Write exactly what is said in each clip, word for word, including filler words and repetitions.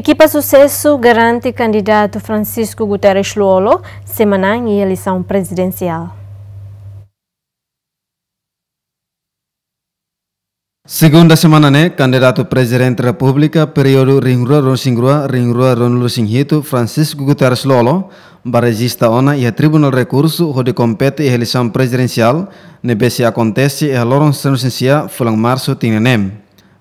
Ekipa susesu garante kandidatu Francisco Guterres Lú-Olo sei manán iha eleisaun prezidensiál. Segunda semana ne'e, kandidatu Prezidente Repúblika períodu rihun rua ruanulu-resin-rua, rihun rua ruanulu-resin-hitu, Francisco Guterres Lú-Olo, bá rejista ona iha Tribunál Rekursu hodi kompete iha eleisaun prezidensiál ne'ebé sei akontese iha loron sanulu-resin-sia fulan Marsu tinan ne'e.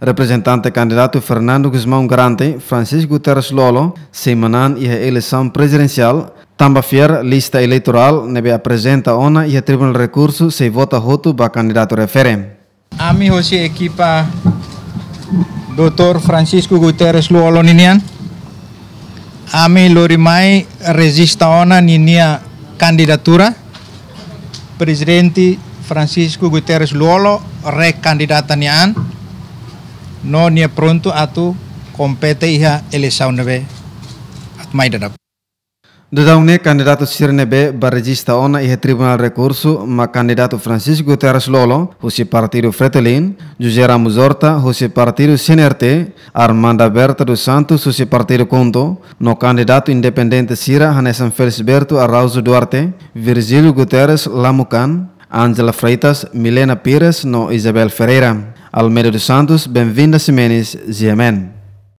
Reprezentante kandidatu Fernando Gusmão garante Francisco Guterres Lú-Olo sei manán iha eleisaun prezidensiál, tanba fiar lista eleitorál ne'ebé aprezenta ona iha Tribunál Rekursu sei vota hotu ba kandidatu refere. Ami hosi ekipa doutór Francisco Guterres Lú-Olo ninian, ami lori mai rejista ona ninia kandidatura. Prezidente Francisco Guterres Lú-Olo rekandidata nia an, no nia prontu atu kompete iha eleisaun ne'ebé atu mai daudaun. Daudaun ne'e kandidatu sira ne'ebé bá rejista ona iha Tribunál Rekursu mak kandidatu Francisco Guterres Lú-Olo, husi partidu Fretilin, José Ramos Horta, husi partidu C N R T, Armanda Berta dos Santos, husi partidu KHUNTO, no kandidatu independente sira hanesan Felisberto Araújo Duarte, Virgílio Guterres Lamukan, Ángela Freitas, Milena Pires no Isabel Ferreira. Almeida dos Santos, Benvinda Ximenes, G M N.